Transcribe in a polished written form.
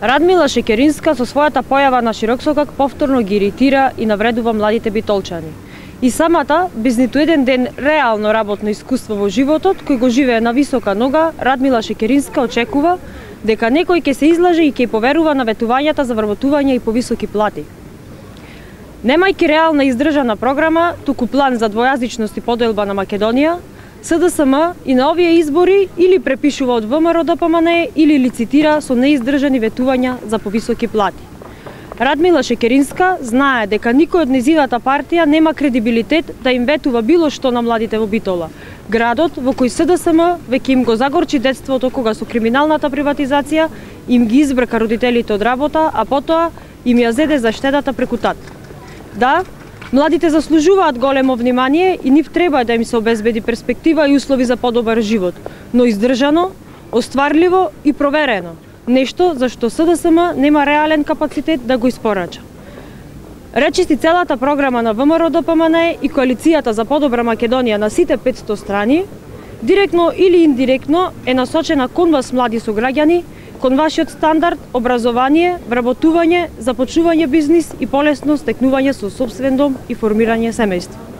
Радмила Шекеринска со својата појава на Широксокак повторно ги иритира и навредува младите битолчани. И самата, без ниту еден ден реално работно искуство во животот, кој го живее на висока нога, Радмила Шекеринска очекува дека некој ќе се излаже и ќе поверува на ветувањата за вработување и повисоки плати. Немајќи реална издржана програма, туку план за двојазичност и поделба на Македонија, СДСМ и на овие избори или препишува од ВМРО-ДПМНЕ или лицитира со неиздржани ветувања за повисоки плати. Радмила Шекеринска знае дека никој од нејзината партија нема кредибилитет да им ветува било што на младите во Битола, градот во кој СДСМ веќе им го загорчи детството кога со криминалната приватизација им ги избрка родителите од работа, а потоа им ја зеде заштедата преку тат. Да, младите заслужуваат големо внимание и нив треба да им се обезбеди перспектива и услови за подобар живот, но издржано, остварливо и проверено. Нешто за што СДСМ нема реален капацитет да го испорача. Речиси целата програма на ВМРО-ДПМНЕ и Коалицијата за подобра Македонија на сите 500 страни, директно или индиректно е насочена кон вас, млади сограѓани, кон вашиот стандард, образование, вработување, започнување бизнис и полесно стекнување со сопствен дом и формирање семејство.